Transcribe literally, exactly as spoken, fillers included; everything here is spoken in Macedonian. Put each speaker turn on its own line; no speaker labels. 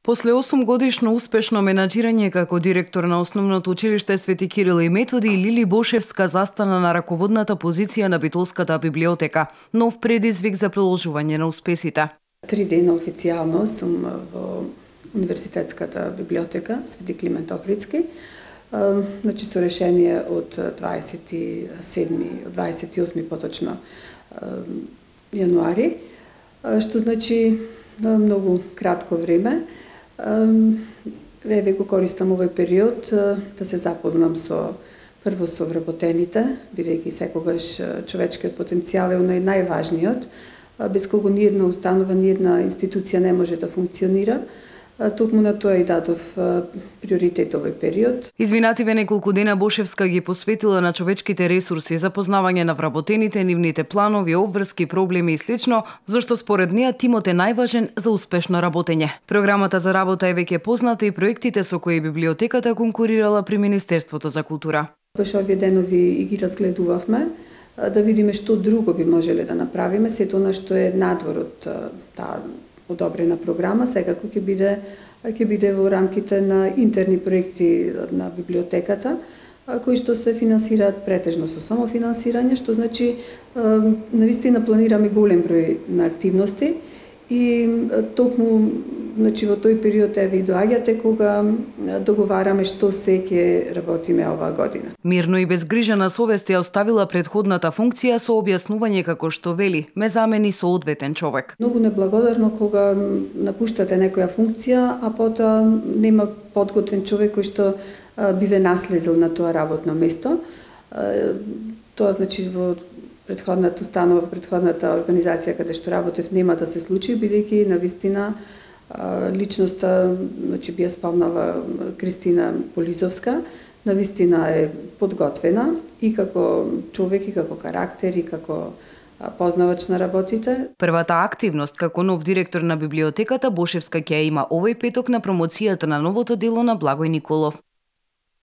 После осум годишно успешно менаџирање како директор на Основното училиште Свети Кирил и Методи, Лили Бошевска застана на раководната позиција на Битолската библиотека, нов предизвик за продолжување на успесите.
Три дена официјално сум во Универзитетската библиотека Свети Климент Охридски, значи со решение од дваесет и седми, дваесет и осми поточно јануари, што значи многу кратко време. Еве го користам овој период да се запознам со прво со вработените, бидејќи секогаш човечкиот потенцијал е најважниот, без кого ни една установа, ни една институција не може да функционира. Токму на тоа и дадов приоритет овој период.
Изминативе неколку дена Бошевска ги посветила на човечките ресурси, запознавање на вработените, нивните планови, обврски, проблеми и слично, зашто според неа тимот е најважен за успешно работење. Програмата за работа е веќе позната и проектите со кои библиотеката конкурирала при Министерството за култура.
Баш овие денови и ги разгледувавме, да видиме што друго би можеле да направиме, сето она што е надвор од таа одобрена програма, секако ќе биде ќе биде во рамките на интерни проекти на библиотеката, кои што се финансираат претежно со самофинансирање, што значи навистина планираме голем број на активности и токму значи во тој период еве и доаѓате кога договараме што се ќе работиме оваа година.
Мирно и без грижа на совест ја оставила предходната функција со објаснување како што вели, ме замени со одветен човек.
Многу неблагодарно кога напуштате некоја функција, а потоа нема подготвен човек кој што би ве наследил на тоа работно место. Тоа значи во предходната установа, предходната организација каде што работев нема да се случи, бидејќи навистина личноста, значи би ја спомнала Кристина Полизовска, навистина е подготвена и како човек, и како карактер, и како познавач на работите.
Првата активност како нов директор на библиотеката Бошевска ќе има овој петок на промоцијата на новото дело на Благој Николов.